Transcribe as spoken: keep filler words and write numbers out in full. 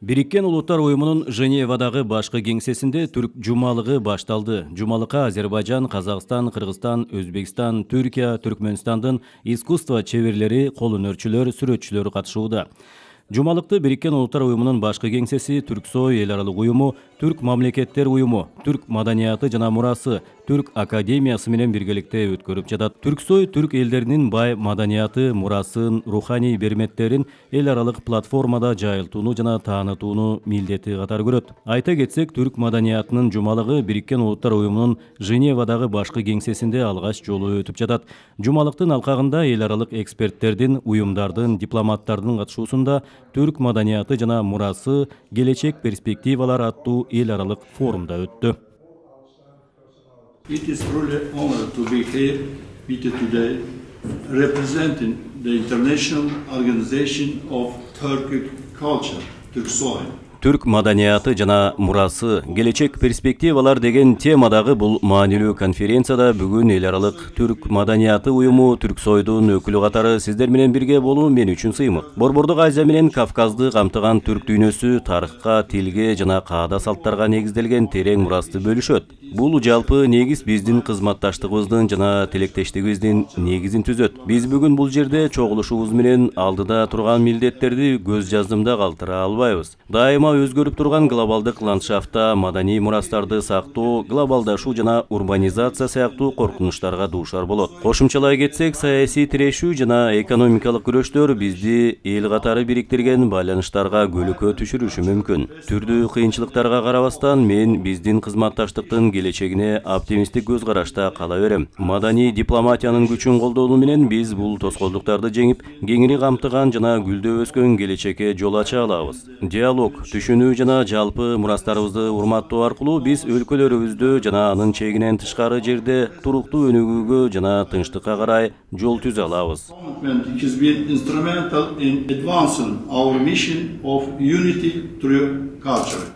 Бириккен Улуттар уюмунун Женевадагы башкы кеңсесинде түрк жумалыгы башталды. Жумалыкка Азербайжан, Казакстан, Кыргызстан, Өзбекстан, Түркия, Түркмөнстандын искусство чеберлери, кол өнөрчүлөр, сүрөтчүлөр катышууда. Жумалыкты Бириккен Улуттар уюмунун башкы кеңсеси, Түрксой эл аралык уюму, Түрк мамлекеттер уюму, Түрк маданияты жана мурасы, Түрк академиясы менен биргеликте өткөрүп жатат. Түрксой түрк элдеринин бай маданияты, мурасын, руханий берметтерин эл аралык платформада жайылтууну жана таанытууну милдети катары көрөт. Айта кетсек, түрк маданиятынын жумалыгы Бириккен Улуттар уюмунун Женевадагы башкы кеңсесинде алгач жолу өтүп жатат. Жумалыктын алкагында эл аралык эксперттердин, уюмдардын, дипломаттардын катышуусунда түрк маданияты жана мурасы, келечек перспективалар аттуу эл аралык форумда өттү. It is truly an honor to be here with you today, representing the International Organization of Turkic Culture, Turksoy. Түрк маданияты жана мурасы, келечек перспективалар деген темадагы бул маанилүү конференцияда бүгүн эл аралык түрк маданияты уюму Түрксойдун өкүлү катары сиздер менен бирге болуу мен үчүн сыймык. Борбордук Азия менен Кавказды камтыган түрк дүйнөсү тарыхка, тилге жана каада салттарга негизделген терең мурасты бөлүшөт. Бул жалпы негиз биздин кызматташтыгыбыздын жана тилектештигибиздин негизин түзөт. Биз бүгүн бул жерде чогулушубуз менен алдыда турган милдеттерди көз жаздымда калтыра албайбыз. Дайыма өзгөрүп турган глобалдык ландшафтта маданий мурастарды сактоо, глобалдашуу жана урбанизация сыяктуу коркунучтарга дуушар болот. Кошумчалай кетсек, саясий тирешүү жана экономикалык күрөштөр бизди эл катары бириктирген байланыштарга көлөкө түшүрүшү мүмкүн. Түрдүү кыйынчылыктарга карабастан мен биздин кызматташтыктын келечегине оптимисттик көз карашта кала берем. Маданий дипломатиянын күчүн колдонуу менен биз бул тоскоолдуктарды жеңип, кеңири камтыган жана гүлдөп өскөн келечекке жол ача алабыз. Диалог, түшүнүү жана жалпы мурастарыбызды урматтоо аркылуу биз өлкөлөрүбүздө жана анын чегинен тышкары жерде туруктуу өнүгүүгө жана тынчтыкка карай жол түзө алабыз. It has been instrumental in advancing our mission of unity through culture.